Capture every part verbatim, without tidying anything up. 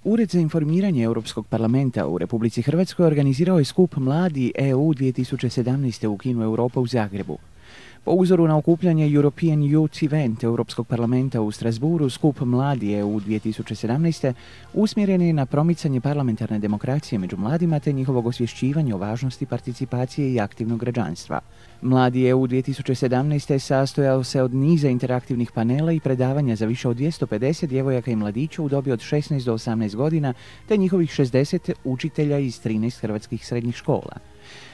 Ured za informiranje Europskog parlamenta u Republici Hrvatskoj organizirao je skup Mladi E U dvije tisuće sedamnaest. u Kinu Europa u Zagrebu. Po uzoru na okupljanje European Youth Event Europskog parlamenta u Strasburu, skup Mladi E U dvije tisuće sedamnaest. usmjeren je na promicanje parlamentarne demokracije među mladima te njihovog osvješćivanja o važnosti participacije i aktivnog građanstva. Mladi E U dvije tisuće sedamnaest. sastojao se od niza interaktivnih panela i predavanja za više od dvjesto pedeset djevojaka i mladića u dobi od šesnaest do osamnaest godina te njihovih šezdeset učitelja iz trinaest hrvatskih srednjih škola.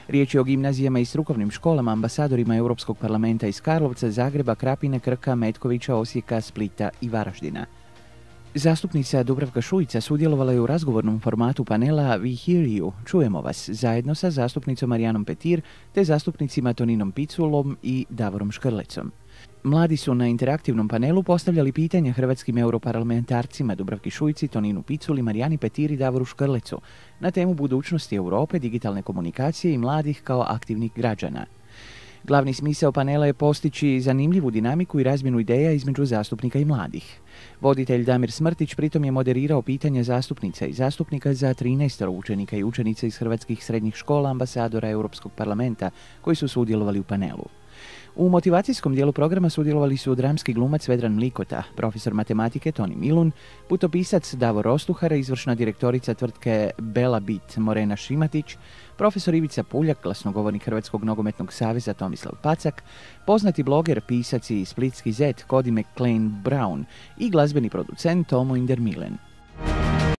Riječ je o gimnazijama i strukovnim školama, ambasadorima Europskog parlamenta iz Karlovca, Zagreba, Krapine, Krka, Metkovića, Osijeka, Splita i Varaždina. Zastupnica Dubravka Šuica sudjelovala je u razgovornom formatu panela We Hear You, čujemo vas, zajedno sa zastupnicom Marijanom Petir te zastupnicima Toninom Piculom i Davorom Škrlecom. Mladi su na interaktivnom panelu postavljali pitanja hrvatskim europarlamentarcima Dubravki Šuici, Toninu Piculi, Marijani Petir i Davoru Škrlecu na temu budućnosti Europe, digitalne komunikacije i mladih kao aktivnih građana. Glavni smisao panela je postići zanimljivu dinamiku i razmjenu ideja između zastupnika i mladih. Voditelj Damir Smrtić pritom je moderirao pitanja zastupnica i zastupnika za trinaest učenika i učenica iz hrvatskih srednjih škola ambasadora Europskog parlamenta koji su sudjelovali u panelu. U motivacijskom dijelu programa sudjelovali su dramski glumac Vedran Mlikota, profesor matematike Toni Milun, putopisac Davor Ostuhara, izvršna direktorica tvrtke Bela Bit Morena Šimatić, profesor Ivica Puljak, glasnogovornik Hrvatskog nogometnog saveza Tomislav Pacak, poznati bloger, pisac i splitski zet Cody McLean Brown i glazbeni producent Tomo Indermilen.